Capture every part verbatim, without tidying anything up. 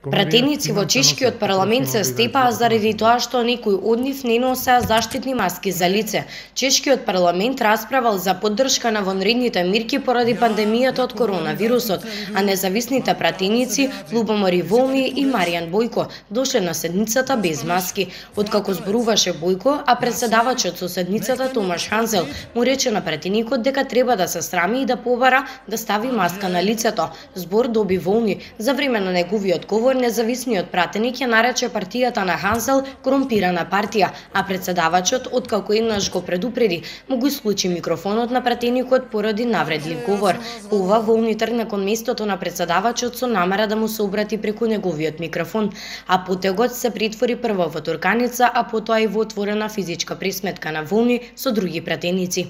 Пратеници во чешкиот парламент се степаа заради тоа што некои од нив не носеа заштитни маски за лице. Чешкиот парламент расправал за поддршка на вонредните мерки поради пандемијата од коронавирусот, а независните пратеници Љубомир Волни и Маријан Бојко дошле на седницата без маски. Откако зборуваше Бојко, а председавачот со седницата Томаш Ханзел му рече на пратеникот дека треба да се срами и да побара да стави маска на лицето. Збор доби Волни. За време на неговиот говор независниот пратеник ја нарече партијата на Ханзел корумпирана партија, а председавачот, откако еднаш го предупреди, му го исклучи микрофонот на пратеникот поради навредлив говор. По ова Волни тргна кон местото на председавачот со намера да му се обрати преку неговиот микрофон, а потегот се претвори прво во турканица, а потоа и во отворена физичка пресметка на Волни со други пратеници.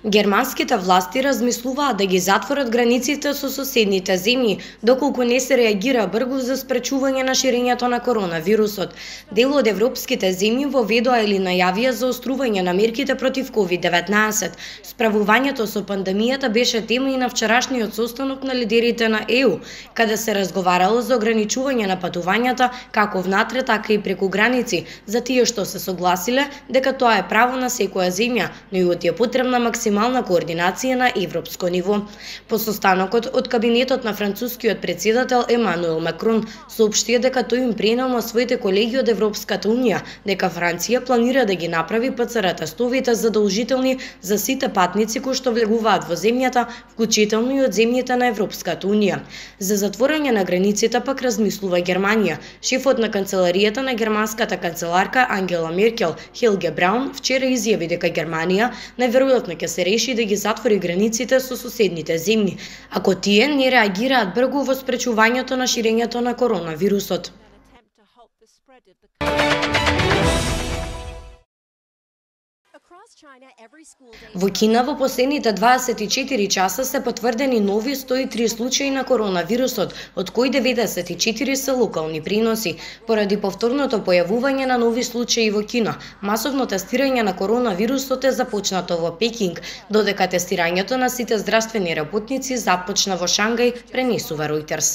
Германските власти размислуваат да ги затворат границите со соседните земји, доколку не се реагира брзо за спречување на ширењето на коронавирусот. Дел од европските земји воведоа или најавија заострување на мерките против ковид деветнаесет. Справувањето со пандемијата беше тема и на вчерашниот состанок на лидерите на Е У, каде се разговарало за ограничување на патувањата како внатре, така и преку граници, за тие што се согласиле дека тоа е право на секоја земја, но и од е потребна максимална координација на европско ниво. По состанокот од кабинетот на францускиот председател Емануел Макрон соопшти дека тој им пренел на своите колеги од Европската унија дека Франција планира да ги направи Пе Це Ер тестовите задолжителни за сите патници кои што влегуваат во земјата, вклучително и од земјите на Европската унија. За затворање на границите пак размислува Германија. Шефот на канцеларијата на германската канцеларка Ангела Меркел, Хелге Браун, вчера изјави дека Германија најверојатно ќе се реши да ги затвори границите со соседните земји, ако тие не реагираат брзо во спречувањето на ширењето на коронавирусот. Во Кина во последните дваесет и четири часа се потврдени нови сто и три случаи на коронавирусот, од кои деветдесет и четири се локални преноси. Поради повторното појавување на нови случаи во Кина, масовно тестирање на коронавирусот е започнато во Пекинг, додека тестирањето на сите здравствени работници започна во Шангај, пренесува Ројтерс.